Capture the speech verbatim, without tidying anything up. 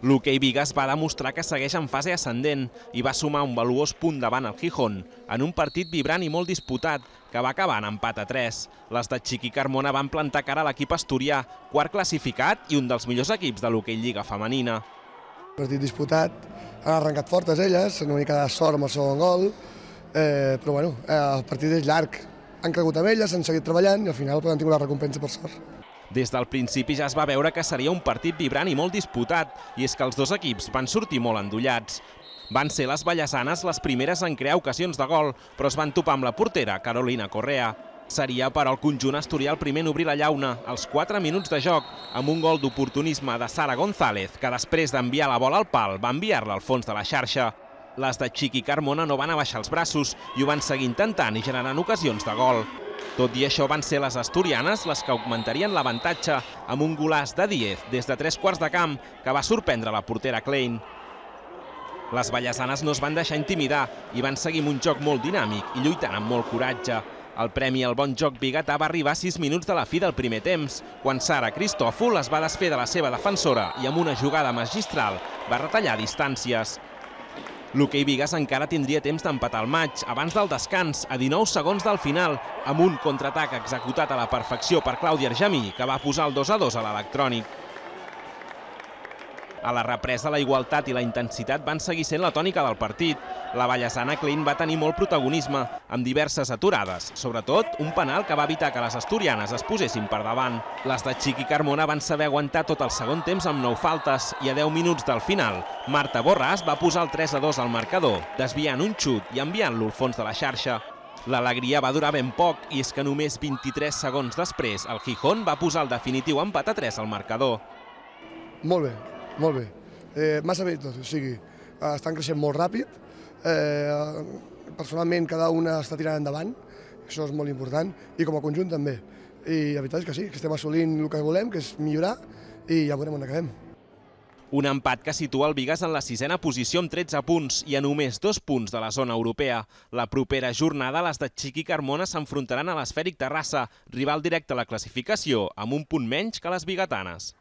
L'hoquei Bigues va demostrar que segueix en fase ascendent i va sumar un valuós punt davant el Gijón, en un partit vibrant i molt disputat, que va acabar en empat a tres. Les de Xiqui Carmona van plantar cara a l'equip asturià, quart classificat i un dels millors equips de l'hoquei Lliga femenina. Partit disputat, han arrencat fortes elles, una mica de sort amb el segon gol, eh, però bueno, eh, el partit és llarg. Han cregut amb elles, han seguit treballant i al final han tingut la recompensa per sort. Des del principi ja es va veure que seria un partit vibrant i molt disputat, i és que els dos equips van sortir molt endollats. Van ser les vallesanes les primeres en crear ocasions de gol, però es van topar amb la portera, Carolina Correa. Seria per al conjunt asturià el primer en obrir la llauna, als quatre minuts de joc, amb un gol d'oportunisme de Sara González, que després d'enviar la bola al pal va enviar-la al fons de la xarxa. Les de Xiqui Carmona no van abaixar els braços i ho van seguir intentant i generant ocasions de gol. Tot i això, van ser les asturianes les que augmentarien l'avantatge amb un golaç de Díez des de tres quarts de camp que va sorprendre la portera Klein. Les vallesanes no es van deixar intimidar i van seguir amb un joc molt dinàmic i lluitant amb molt coratge. El premi al bon joc biguetà va arribar a sis minuts de la fi del primer temps, quan Sara Cristòfol es va desfer de la seva defensora i amb una jugada magistral va retallar distàncies. L'hoquei Bigues encara tindria temps d'empatar el maig abans del descans, a dinou segons del final, amb un contraatac executat a la perfecció per Clàudia Argemí, que va posar el dos a dos a l'electrònic. A la represa, la igualtat i la intensitat van seguir sent la tònica del partit. La vallesana Klein va tenir molt protagonisme, amb diverses aturades, sobretot un penal que va evitar que les asturianes es posessin per davant. Les de Xiqui Carmona van saber aguantar tot el segon temps amb nou faltes i a deu minuts del final, Marta Borràs va posar el tres a dos al marcador, desviant un xut i enviant-lo al fons de la xarxa. L'alegria va durar ben poc i és que només vint-i-tres segons després el Gijón va posar el definitiu empat a tres al marcador. Molt bé, molt bé. Eh, massa bé tot, o sigui, estan creixent molt ràpid. Eh, personalment, cada una està tirant endavant, això és molt important, i com a conjunt també. I la veritat és que sí, que estem assolint el que volem, que és millorar, i ja veurem on acabem. Un empat que situa el Bigues en la sisena posició amb tretze punts i a només dos punts de la zona europea. La propera jornada, les de Xiqui Carmona s'enfrontaran a l'Esfèric Terrassa, rival directe a la classificació, amb un punt menys que les biguetanes.